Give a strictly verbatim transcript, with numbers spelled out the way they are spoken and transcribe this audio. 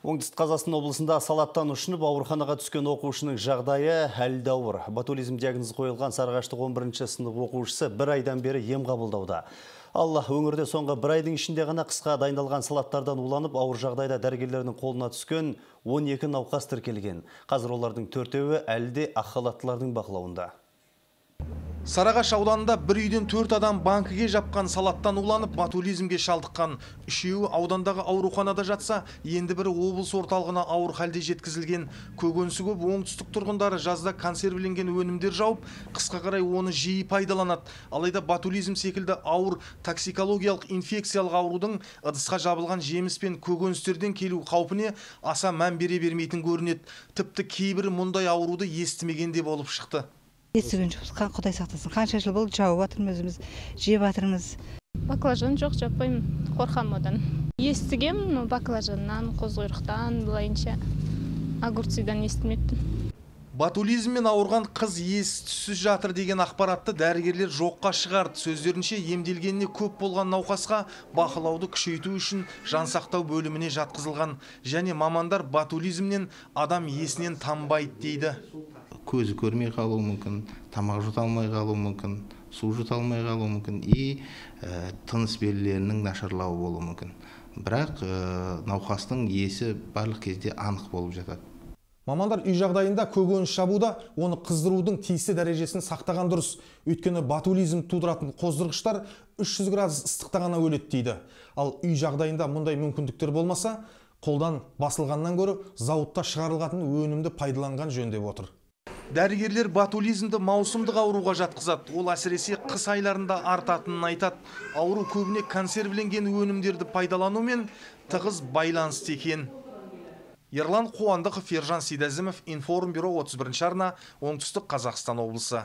Оңтүстік Қазақстан облысында салаттан ұшынып ауруханаға түскен оқушының жағдайы әлі де ауыр. Ботулизм диагнозы қойылған Сарыағаштық он бірінші сынып оқушысы бір айдан бері ем қабылдауда. Алла, өңірде соңғы бір айдың ішінде ғана қысқа дайындалған салаттардан уланып, ауыр жағдайда дәрігерлердің қолына түскен он екі науқас тіркелген. Қазір олардың төртеуі әлі де ақ халаттылардың бақылауында. Сарыағаш ауданында бір үйден төрт адам банкіге жапқан салаттан уланып, ботулизмге шалдыққан. Үшеуі аудандағы ауруханада жатса, енді бірі облыс орталығына ауыр халде жеткізілген. Көкөнісі көп оңтүстік тұрғындары жазда консервіленген өнімдер жауып, қысқа қарай оны жиі пайдаланады. Алайда ботулизм секілді ауыр токсикологиялық инфекциялық аурудың ыдысқа жабылған жеміс пен көкөністерден келу қаупіне аса мән бере бермейтін көрінеді. Тіпті кейбірі мұндай ауруды естімегенде болып шықты. Естіген жоқпыз, Құдай сақтасын. Қанша жыл болды жауып жатырмыз өзіміз, жеп жатырмыз. Баклажан жоқ, жаппаймын, қорқам одан. Естігем, баклажаннан, қозқұйрықтан, былайынша огурцыдан естімеппін. Ботулизммен ауырған қыз ес-түссіз жатыр деген ақпаратты дәрігерлер жоққа шығарды. Сөздерінше, емделгеніне көп болған науқасқа бақылауды күшейту үшін жансақтау бөліміне жатқызылған. Және мамандар ботулизмнен адам есінен танбайды дейді. Көзі көрмей қалуы мүмкін, тамақ жұта алмай қалуы мүмкін, су жұта алмай қалуы мүмкін, и ә, тыныс белгілерінің нашарлауы болуы мүмкін. Бірақ ә, науқастың есі барлық кезде анық болып жатады. Мамандар үй жағдайында көкөніс жабуда оны қыздырудың тиісті дәрежесін сақтаған дұрыс. Өйткені ботулизм тудыратын қоздырғыштар үш жүз градус ыстықта ғана өледі дейді. Ал үй жағдайында мұндай мүмкіндіктер болмаса, қолдан басылғаннан гөрі зауытта шығарылған өнімді пайдаланған жөн деп отыр. Дәрігерлер ботулизмді маусымдық ауруға жатқызады. Ол әсіресе қыс айларында артатынын айтады. Ауру көбіне консервіленген өнімдерді пайдаланумен тығыз байланысты екен. Ерлан Қуандықов, Ержан Сейдазімов, Информбюро отыз бірінші арна, Оңтүстік Қазақстан облысы.